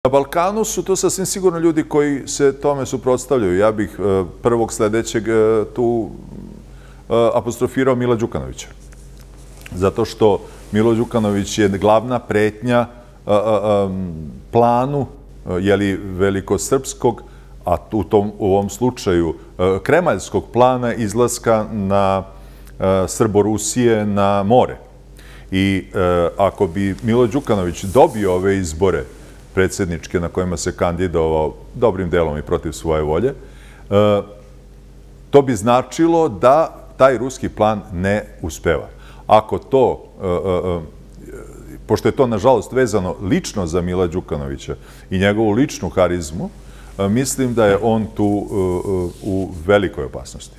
Na Balkanu su to sasvim sigurno ljudi koji se tome suprotstavljaju. Ja bih prvog sledećeg tu apostrofirao Mila Đukanovića. Zato što Milo Đukanović je glavna pretnja planu velikosrpskog, a u ovom slučaju kremaljskog plana izlaska na Srborusije na more. I ako bi Milo Đukanović dobio ove izbore predsjedničke na kojima se kandidovao dobrim delom i protiv svoje volje, to bi značilo da taj ruski plan ne uspeva. Ako to, pošto je to nažalost vezano lično za Mila Đukanovića i njegovu ličnu harizmu, mislim da je on tu u velikoj opasnosti.